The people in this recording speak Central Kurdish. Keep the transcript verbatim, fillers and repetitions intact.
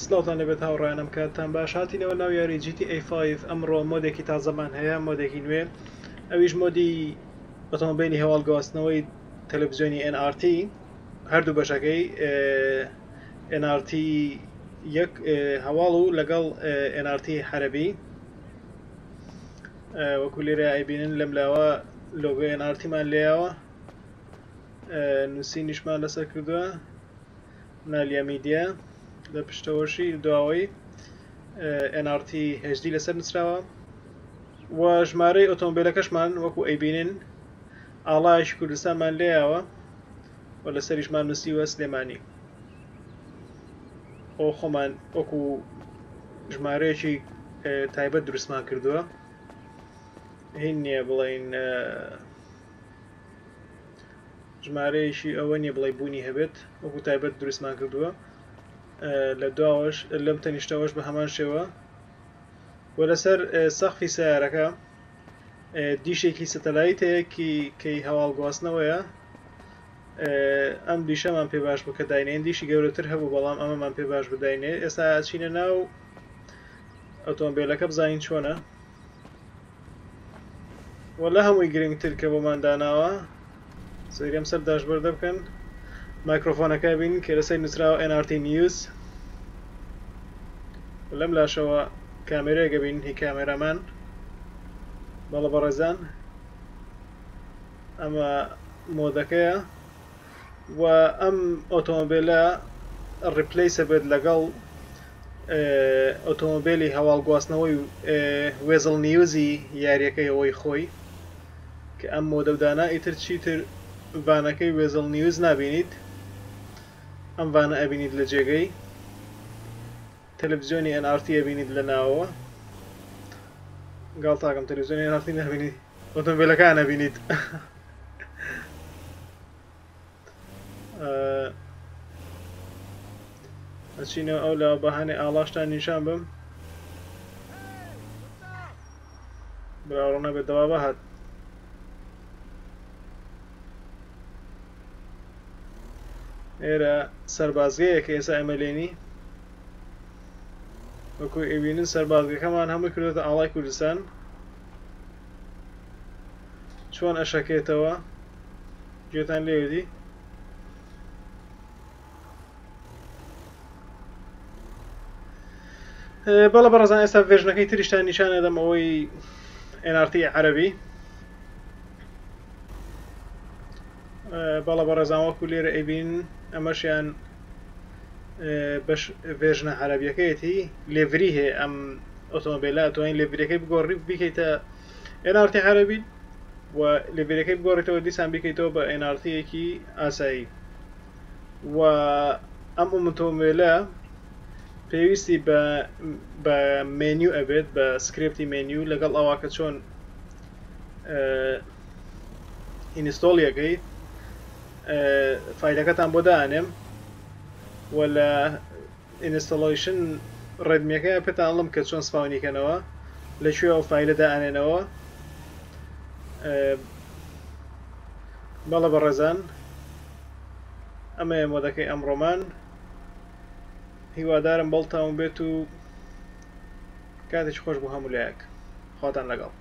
سڵاوتان لێبێت هاوڕێیانم، کاتتان باش. هاتینەوە ناو یاری G T A five. ئەمڕۆ mod ێکی تازەمان هەیە، mod ێکی نوێ، ئەویش mod ی ئۆتۆمۆبیلی هەواڵ گواستنەوەی تەلەڤزیۆنی N R T، هەردوو بەشەکەی N R T یەک هەواڵ و لەگەڵ N R T عەرەبی. وەکو لێرە ئەیبینن لەم لاوە لۆگۆی N R T مان لێیاوە، نووسینیشمان لەسەر کردووە نالیا میدیا، لە پشتەوەشی دواوەی N R T H D لەسەر نووسراوە و ژمارەی ئۆتۆمۆبیلەکەشمان وەکو ئەیبینن ئاڵایەکی کوردستانمان لێیاوە و لەسەریشمان نووسیوە سلێمانی. ئەو خۆمان وەکو ژمارەیەکی تایبەت دروستمان کردووە، هین نییە بڵین ژمارەیەکی ئەوە نییە بڵێ بوونی هەبێت، وەکو تایبەت دروستمان کردووە. لە دواوەش لەم تەنیشتەوەش بە هەمان شێوە و لەسەر سەقفی سیارەکە دیشێکی سەتەلایت هەیە کەی هەواڵ گواستنەوەیە. ئەم دیشەمان پێ باش بوو کە داینێن، دیشی گەورەتر هەبوو بەڵام ئەمەمان پێ باش بوو داینێ. ئێستا ئەچینە ناو ئۆتۆمۆبیلەکە بزانین چۆنە. وە لە هەمووی گرنگتر کە بۆمان داناوە سەیریم سەر dashboard ە بکەن، مایکرۆفۆنەکە بین کە لەسەر نووسراوە N R T News. لەم لاشەوە کامێرەیەکە بین هی cameraman. بەڵە بەڕێزان ئەمە mod ەکەیە و ئەم ئۆتۆمۆبیلە replace ە بێت لەگەڵ ئۆتۆمۆبیلی هەواڵ گواستنەوەی Weazel News ی یاریەکەی ئەوەی خۆی کە ئەم mod ە و دانا. ئیتر چیتر van ەکەی Weazel News نابینیت، ئەم van ە ئەبینیت لە جێگەی تەلەڤزیۆنی N R T ئەبینیت لە ناوەوە. گاڵتاکەم تەلەڤزیۆنی N R T نابینیت، ئۆتۆمۆبیلەکان ئەبینیت. ئەچینەوە ئەو لاوە بەهانێ ئاڵاشتان نیشان بم. براوڕۆ نەبێت دەوا بەهات. ئێرە سەربازگەیەکە ئێستا ئێمە لێنی، وەکو ئەبینن سەربازگەکەمان هەمووی کردوێتە ئاڵای کوردستان. چۆن ئەشەکێتەوە گوێتان لێودی. بەڵە بەڕێزان ئێستا version ەکەی تریشتان نیشان ئەدەم، ئەوەی N R T عەرەبی. بەڵە بەڕێزان وەکو لێرە ئەیبین ئەمەشیان بەش version ە عەرەبیەکەیەتی. livery هەیە ئەم ئۆتۆمۆبیلە، ئەتوانین livery ەکەی بگۆڕی بیکەیتە N R T عەرەبی و livery ەکەی بگۆڕیتەوە دیسان بیکەیتەوە بە N R T ێکی ئاسایی. و ئەم ئۆتۆمۆبیلە پێویستی بە مێنیو ئەبێت، بە script ی menu لەگەڵ ئەوە کە چۆن install یەکەی file ەکەتان بۆ دانێم و لە installation readme ەکەی پێتان ئەڵم کە چۆن spawn یکەنەوە، لەکوێ ئەو file ە دائەنێنەوە. بەڵە بەڕێزان ئەمەیە mod ەکەی ئەمڕۆمان. هیوادارم بەڵتاون بێت و کاتێکی خۆش بۆ هەموو لایەک. خواتان لەگەڵ.